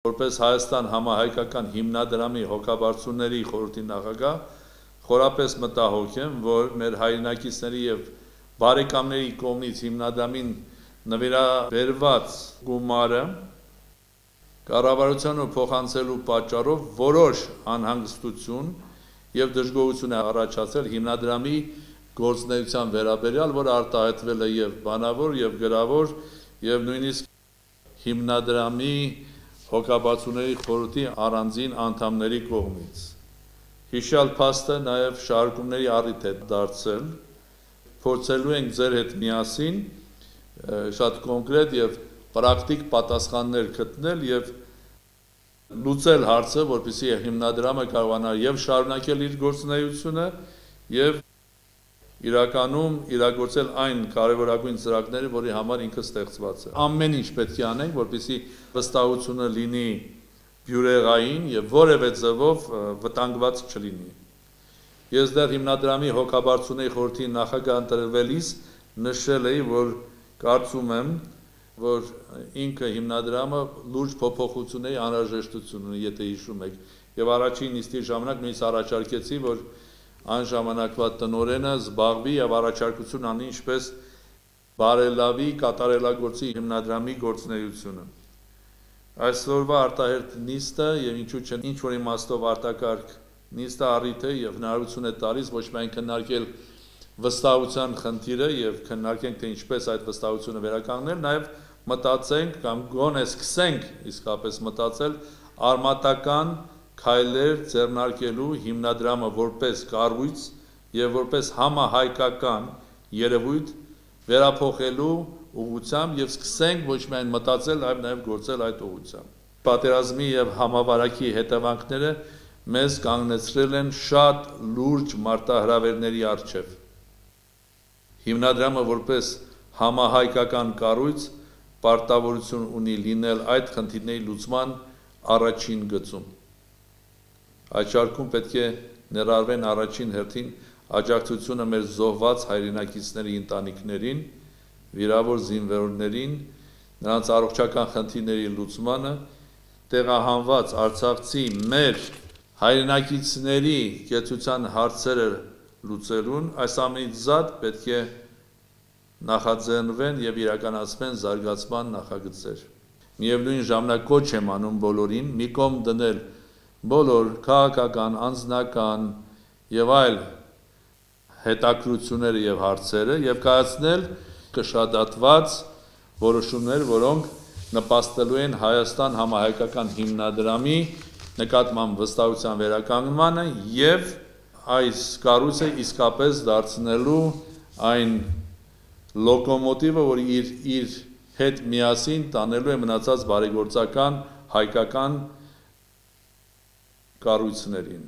Որպես Հայաստան համահայկական հիմնադրամի հոգաբարձուների խորհրդի նախագահ խորապես մտահոգ եմ, որ մեր հայրենակիցների եւ բարեկամների կողմից հիմնադրամին նվիրաբերված գումարը կառավարությանը փոխանցելու պատճառով որոշ անհանգստություն եւ դժգոհություն է առաջացել հիմնադրամի գործունեության վերաբերյալ, որ արտահայտվել է եւ բանավոր եւ գրավոր եւ նույնիսկ հիմնադրամի հոգաբարձուների խորհրդի առանձին անդամների կողմից։ Հիշյալ փաստը նաև շարժումների առիթ է դարձել, փորձելու ենք ձեր հետ միասին շատ կոնկրետ եւ պրակտիկ պատասխաններ գտնել եւ լուծել հարցը, որպեսզի հիմնադրամը կարողանա եւ շարունակել իր գործունեությունը եւ իրականում իրագործել այն կարևորագույն ծրագրերը, որի համար ինքը ստեղծված է։ Ամեն ինչ պետք է անենք, որպեսզի վստահությունը լինի բյուրեղային եւ որևէ ձևով վտանգված չլինի։ Ես դեռ հիմնադրամի հոգաբարձուների խորհրդի նախագահ ընտրվելիս նշել էի, որ կարծում եմ, որ ինքը հիմնադրամը լուրջ փոփոխությունների անհրաժեշտություն ունի, եթե հիշում եք, եւ առաջին նիստի ժամանակ նույնիսկ առաջարկեցի, որ այն ժամանակվա տնօրենը զբաղվի եւ առաջարկություն անի ինչպես բարելավի կատարելագործի հիմնադրամի գործունեությունը։ Այսօրվա արտահերթ նիստը եւ ինչու՞ չէ ինչ որ իմաստով արտակարգ նիստը առիթ է եւ հնարավորություն է տալիս ոչ միայն քննարկել վստահության խնդիրը եւ քննարկենք թե ինչպես այդ վստահությունը վերականգնել, նաեւ մտածենք կամ գոնե սկսենք իսկապես մտածել արմատական քայլեր ձեռնարկելու հիմնադրամը որպես կառույց եւ որպես համահայկական երևույթ վերափոխելու ուղղությամբ եւ սկսենք ոչ միայն մտածել, այլ նաեւ գործել այդ ուղղությամբ։ Պատերազմի եւ համավարակի հետևանքները մեզ կանգնեցրել են շատ լուրջ մարտահրավերների առջեւ։ Հիմնադրամը որպես համահայկական կառույց պարտավորություն ունի լինել այդ խնդիրների լուծման առաջին գծում։ Այդ շարքում պետք է ներառվեն առաջին հերթին աջակցությունը մեր զոհված հայրենակիցների ընտանիքներին, վիրավոր զինվորներին, նրանց առողջական խնդիրների լուծմանը, տեղահանված արցախցի մեր հայրենակիցների կեցության հարցերը լուծելուն, այս ամենից զատ պետք է նախաձեռնվեն եւ իրականացվեն զարգացման նախագծեր։ Միևնույն ժամանակ կոչ եմ անում բոլորին մի կողմ դնել բոլոր քաղաքական, անձնական եւ այլ հետաքրությունները եւ հարցերը եւ կայացնել կշադատված որոշումներ, որոնք նպաստելու են Հայաստան համահայկական հիմնադրամի նկատմամբ վստահության վերականգնմանը եւ այս կառույցը իսկապես դարձնելու այն լոկոմոտիվը, որ իր հետ միասին տանելու է մնացած բարեգործական հայկական կառույցներին։